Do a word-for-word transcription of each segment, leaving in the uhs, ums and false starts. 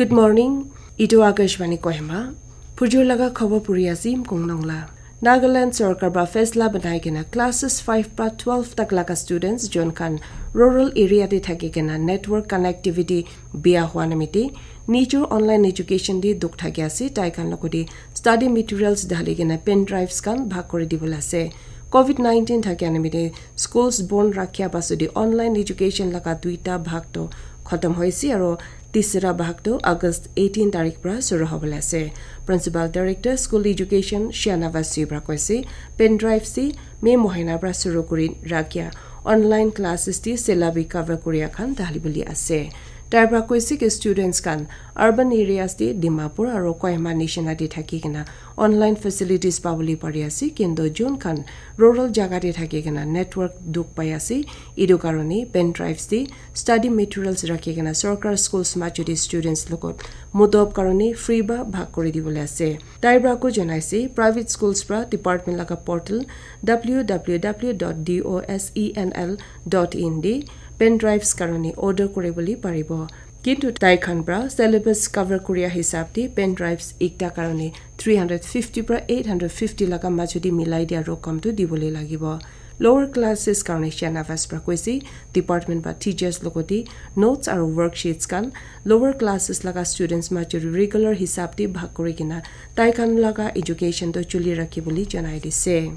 Good morning. Itu Akashvani Kohima. Phujur laga khobor puri ase Mkong Nongla. Nagaland sorkar ba faisla banai kena classes five pa twelve tak laga students jon khan rural area te thaki kena network connectivity bia hua namite nijor online education te dukh thaki ase, tai khan logode study materials dhali kena pen drives khan bhag kuri dibole ase. Covid nineteen thakia nimite schools bon rakhia pasudi online education laga duita bhag to khatam hoise aro tisra bhag to August eighteen tarik pra shuru hobole ase. Principal Director School Education Shanavas Sibra koise, pen drive si May mohina pra shuru kuri rakhia online classes ti syllabi cover kuria khan dali buli ase. Tai pra koise ki students khan urban areas ti Dimapur aro Kohima nishina ti thaki kena online facilities pabole pari ase, kintu jun khan rural jaga te thaki kena network dukh pai ase, etu karone pen drives te study materials rakhi kena sorkar schools majute students logot mudob karone free ba bhag kuri dibole ase. Tai pra ko janaise private schools pra department laga portal w w w dot d o s e n l dot in de pen drives karone order kuri bole paribo. Kintu tai khan pra syllabus cover kuria hisab te pen drives ekta karone three hundred fifty pra eight hundred fifty laga majute milai dia rokom tu dibole lagibo. Lower classes karone Shanavas pra koise, department ba teachers logoti notes aro worksheets khan lower classes laga students majute regular hisab te bhag kuri kena tai khan laga education to chuli rakhi bole janai dise.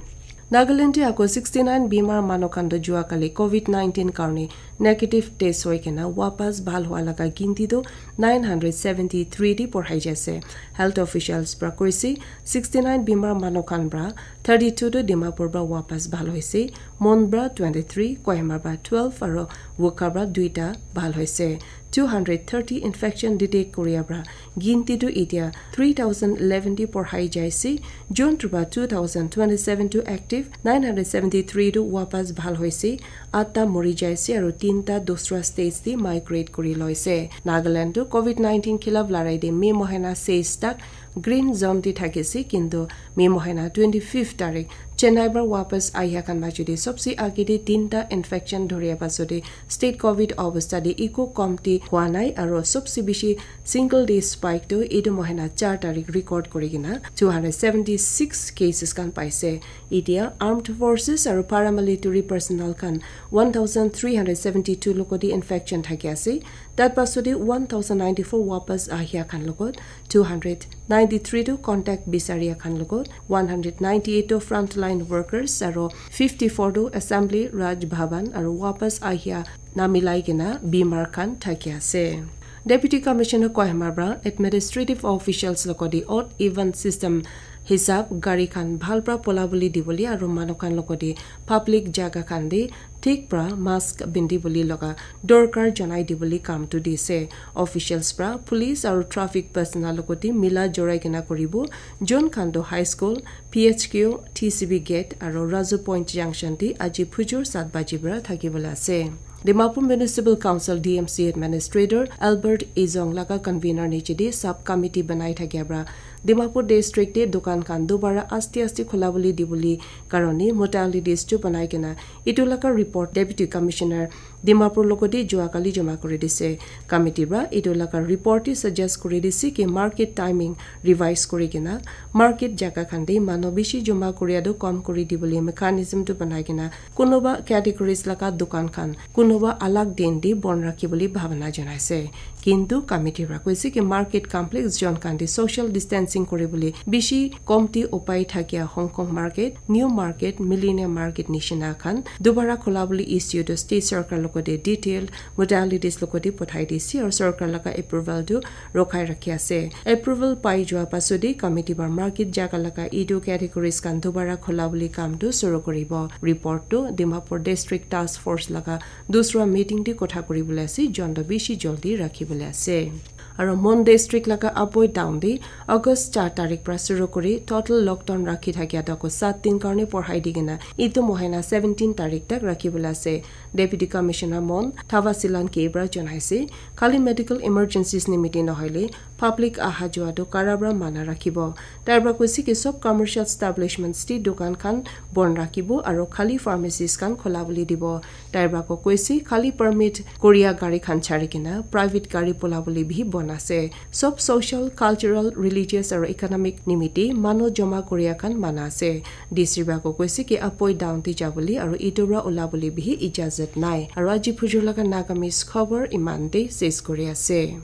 Nagaland te ako sixty nine bimar manu khan to jua kali Covid nineteen karone negative test hoi kena wapas bhal hua laga ginti to nine hundred seventy three di porhai jaise. Health officials pra koise sixty nine bimar manu khan pra thirty two to Dimapur pra wapas bhal hoise, Mon pra twenty three, Kohima pra twelve aro Wokha pra duita bhal hoise. Two hundred thirty infection detect kuria pra ginti tu etia three thousand eleven di porhai jaise. Jun tu pra two thousand twenty seven tu active, nine hundred seventy three tu wapas bhal hoise, atta mori jaise aro tinta dusra states di migrate kuri loise. Nagaland tu Covid nineteen khilaf larai de May mohina seis tak green zone di thakise, kintu May mohina twenty fifth tarik Chennai pra wapas ahia khan majute sobse age de tinta infection dhoria pasode state Covid obostha de eku komti hua nai aro sobse bishi single day spike tu etu mohina char tarik record kuri kena two hundred seventy six cases khan paise. Etia armed forces aro paramilitary personnel khan one thousand three hundred seventy two logoti infection thaki ase. Tat pasode one thousand ninety four wapas ahia khan logot, two hundred ninety three tu contact bisaria khan logot, one hundred ninety eight tu frontline workers aro fifty four tu assembly Raj Bhavan aro wapas ahia namilai kena bimar khan thaki ase. Deputy Commissioner Kohima pra administrative officials logoti odd even system hisab gari khan bhal pra pola bole dibole aro manu khan logoti public jaga khan de thik pra mask bindi bole laga dorkar janai dibole kam tu dise. Officials pra police aro traffic personnel logoti mila jorai kena kuribo. Jun khan to high school, P H Q, T C B gate aro Razu Point junction te aji phujur sat baji pra thaki bole ase. Dimapur Municipal Council D M C Administrator Albert Izong laga convener niche de sub committee banai thakia pra Dimapur district te dukan khan dubara aste aste khula bole dibole karone modalities tu banai kena etu laga report Deputy Commissioner Dimapur logoti jua kali joma kuri dise. Committee pra etu laga report te suggest kuri dise ki market timing revise kuri kena market jaga khan te manu bishi joma kuria tu kom kuri dibole mechanism tu banai kena kunuba categories laga dukan khan kunuba alag din te bon rakhi bole bhabana janaise. Kintu committee pra koise ki market complex jon khan te social distancing kuri bole bishi komti upai thakia Hong Kong market, New Market, Millennium Market nishina khan dubara khula bole issue tu state sorkar logoti detailed modalities logoti pothai dise aro sorkar laga approval tu rokhai rakhi ase. Approval pai jua pasode committee pra market jaga laga etu categories khan dubara khula bole kam tu shuru kuribo. Report tu Dimapur District Task Force laga dusra meeting te kotha kuri bole ase, jon to bishi joldi rakhi bole ase. Aro Mon district laga Aboi town te August char tarik pra shuru kuri total lockdown rakhi thakia to ako sat din karone porhai di kena etu mohina seventeen tarik tak rakhi bole ase. Deputy Commissioner Mon Thava Silan K pra janaise, khali medical emergencies nimite nohoile Public aha jua tu kara para mana rakhibo. Tai para koise ki sob commercial establishments te dukan khan bon rakhibo aru khali pharmacies khan khola bole dibo. Tai para ko koise khali permit koria gari khan chari kena private gari bola bole bhi bon ase. Sob social, cultural, religious aru economic nimite manu joma koria khan mana ase. D C para ko koise ki apoi down te jabole aru etu para ola bole bhi ijazat nai. Aru aji phujur laga Nagamese khobor iman te ses kori ase.